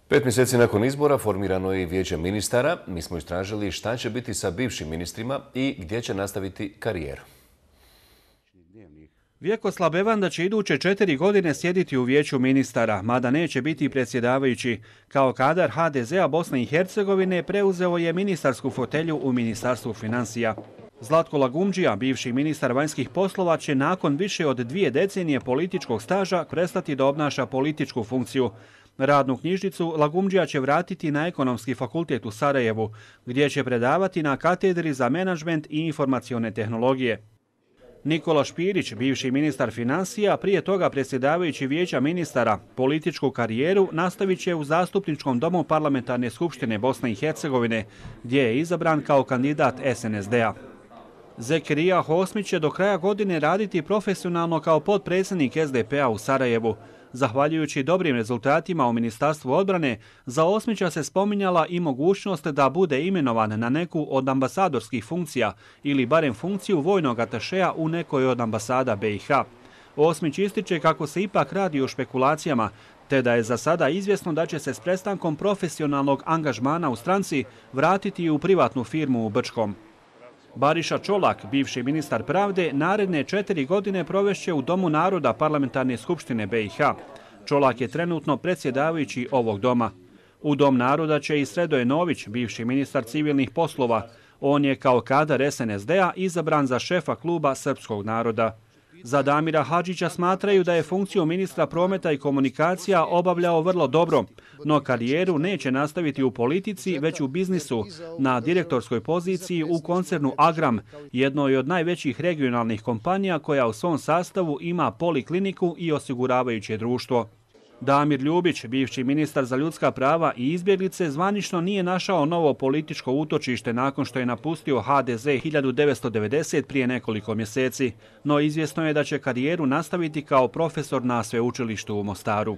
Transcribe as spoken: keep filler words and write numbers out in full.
Pet mjeseci nakon izbora formirano je vijeće ministara. Mi smo istražili šta će biti sa bivšim ministrima i gdje će nastaviti karijeru. Vjekoslav Bevanda će iduće četiri godine sjediti u vijeću ministara, mada neće biti predsjedavajući. Kao kadar ha de zea Bosne i Hercegovine preuzeo je ministarsku fotelju u Ministarstvu financija. Zlatko Lagumdžija, bivši ministar vanjskih poslova, će nakon više od dvije decenije političkog staža prestati da obnaša političku funkciju. Radnu knjižicu Lagumdžija će vratiti na Ekonomski fakultet u Sarajevu, gdje će predavati na katedri za menadžment i informacione tehnologije. Nikola Špirić, bivši ministar financija, prije toga predsjedavajući vijeća ministara, političku karijeru nastavit će u Zastupničkom domu Parlamentarne skupštine Bosne i Hercegovine, gdje je izabran kao kandidat es en es de a. Zekirija Hosmić će do kraja godine raditi profesionalno kao potpredsjednik es de pe a u Sarajevu. Zahvaljujući dobrim rezultatima u Ministarstvu odbrane, za Osmića se spominjala i mogućnost da bude imenovan na neku od ambasadorskih funkcija ili barem funkciju vojnog atašeja u nekoj od ambasada be i ha. Osmić ističe kako se ipak radi o špekulacijama, te da je za sada izvjesno da će se s prestankom profesionalnog angažmana u stranci vratiti u privatnu firmu u Brčkom. Bariša Čolak, bivši ministar pravde, naredne četiri godine provešće u Domu naroda Parlamentarne skupštine be i ha. Čolak je trenutno predsjedavajući ovog doma. U Dom naroda će i Sredoje Nović, bivši ministar civilnih poslova. On je kao kadar es en es de a izabran za šefa kluba Srpskog naroda. Za Damira Hadžića smatraju da je funkciju ministra prometa i komunikacija obavljao vrlo dobro, no karijeru neće nastaviti u politici, već u biznisu, na direktorskoj poziciji u koncernu Agram, jednoj od najvećih regionalnih kompanija koja u svom sastavu ima polikliniku i osiguravajuće društvo. Damir Ljubić, bivši ministar za ljudska prava i izbjeglice, zvanično nije našao novo političko utočište nakon što je napustio ha de ze hiljadu devetsto devedeset prije nekoliko mjeseci, no izvjesno je da će karijeru nastaviti kao profesor na sveučilištu u Mostaru.